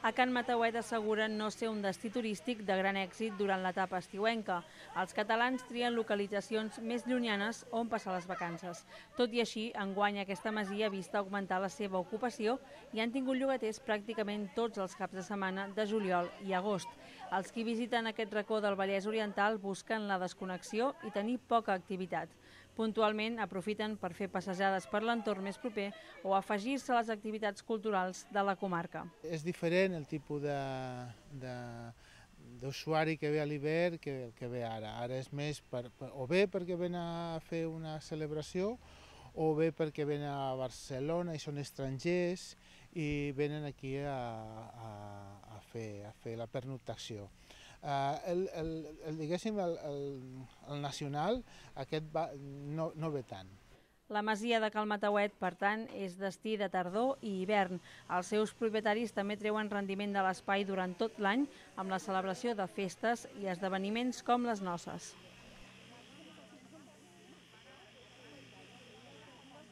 A Can Matauet asseguren no ser un destí turístic de gran èxit durant l'etapa estiuenca. Els catalans trien localitzacions més llunyanes on passar les vacances. Tot i així, enguany aquesta masia ha vist augmentar la seva ocupació i han tingut llogaters pràcticament tots els caps de setmana de juliol i agost. Els qui visiten aquest racó del Vallès Oriental busquen la desconnexió i tenir poca activitat. Puntualment aprofiten per fer passejades per l'entorn més proper o afegir-se a les activitats culturals de la comarca. És diferent el tipus d'usuari que ve a l'hivern que el que ve ara. Ara és més o bé perquè ven a fer una celebració o bé perquè venen a Barcelona i són estrangers i venen aquí a fer la pernoctació. Diguéssim, el nacional aquest no ve tant. La masia de Cal Matauet, per tant, és destí de tardor i hivern. Els seus propietaris també treuen rendiment de l'espai durant tot l'any amb la celebració de festes i esdeveniments com les noces.